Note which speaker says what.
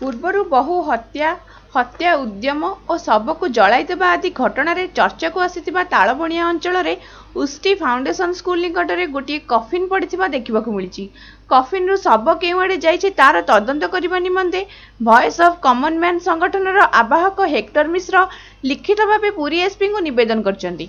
Speaker 1: ପୂର୍ବରୁ ବହୁ ହତ୍ୟା, ହତ୍ୟା ଉଦ୍ୟମ ଓ ଶବକୁ ଜଳାଇଦେବା ଆଦି ଘଟଣାରେ ଚର୍ଚ୍ଚାକୁ ଆସିଥିବା ତାଳବଣିଆ ଅଞ୍ଚଳରେ ଉଷ୍ଟି ଫାଉଣ୍ଡେସନ ସ୍କୁଲ ନିକଟରେ ଗୋଟିଏ କଫିନ ପଡ଼ିଥିବା ଦେଖିବାକୁ ମିଳିଛି। କଫିନରୁ ଶବ କେଉଁଆଡ଼େ ଯାଇଛି ତାର ତଦନ୍ତ କରିବା ନିମନ୍ତେ ଭଏସ ଅଫ୍ କମନ ମ୍ୟାନ ସଂଗଠନର ଆବାହକ ହେକ୍ଟର ମିଶ୍ର ଲିଖିତ ଭାବେ ପୁରୀ ଏସ୍ପିଙ୍କୁ ନିବେଦନ କରିଛନ୍ତି।